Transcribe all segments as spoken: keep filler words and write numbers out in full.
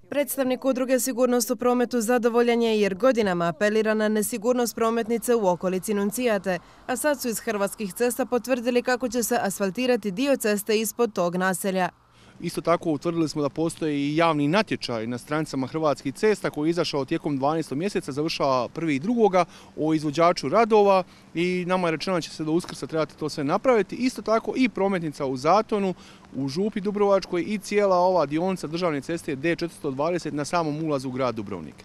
Predstavnik udruge Sigurnost u prometu zadovoljan je jer godinama apelira na nesigurnost prometnice u okolici Nuncijate, a sad su iz Hrvatskih cesta potvrdili kako će se asfaltirati dio ceste ispod tog naselja. Isto tako utvrdili smo da postoji i javni natječaj na stranicama Hrvatskih cesta koji je izašao tijekom dvanaestog mjeseca, završava prvi i drugoga o izvođaču radova i nama je rečeno da će se do Uskrsa trebati to sve napraviti. Isto tako i prometnica u Zatonu, u Župi Dubrovačkoj i cijela ova dionica državne ceste D četiristo dvadeset na samom ulazu u grad Dubrovnik.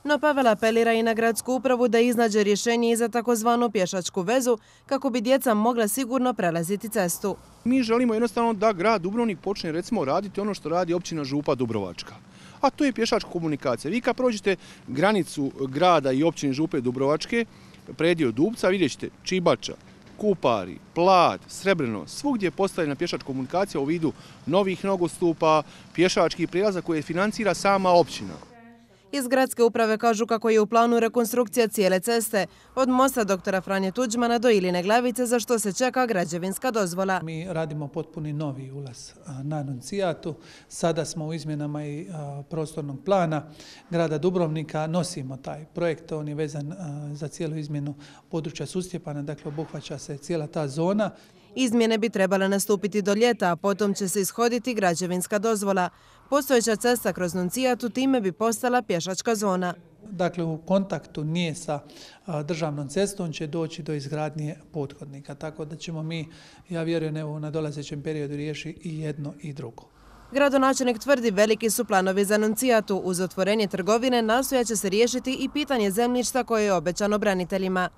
No Pavel apelira i na gradsku upravu da iznađe rješenje i za takozvanu pješačku vezu kako bi djeca mogla sigurno prelaziti cestu. Mi želimo jednostavno da grad Dubrovnik počne recimo raditi ono što radi općina Župa Dubrovačka. A to je pješačka komunikacija. Vi kad prođete granicu grada i općine Župe Dubrovačke, predio Dubca, vidjet ćete Čibača, Kupari, Plat, Srebreno, svugdje je postavljena pješačka komunikacija u vidu novih nogostupa, pješačkih prijelaza koje financira sama općina. Iz gradske uprave kažu kako je u planu rekonstrukcija cijele ceste, od mosta doktora Franje Tuđmana do Iline Glavice, za što se čeka građevinska dozvola. Mi radimo potpuni novi ulaz na Nuncijatu. Sada smo u izmjenama i prostornog plana grada Dubrovnika. Nosimo taj projekt, on je vezan za cijelu izmjenu područja Sustjepana, dakle obuhvaća se cijela ta zona. Izmjene bi trebale nastupiti do ljeta, a potom će se ishoditi građevinska dozvola. Postojeća cesta kroz Nuncijatu time bi postala pješačka zona. Dakle, u kontaktu nije sa državnom cestom će doći do izgradnje pothodnika. Tako da ćemo mi, ja vjerujem, evo, na dolazećem periodu riješiti i jedno i drugo. Gradonačelnik tvrdi veliki su planovi za Nuncijatu. Uz otvorenje trgovine nastojat će se riješiti i pitanje zemljišta koje je obećano braniteljima.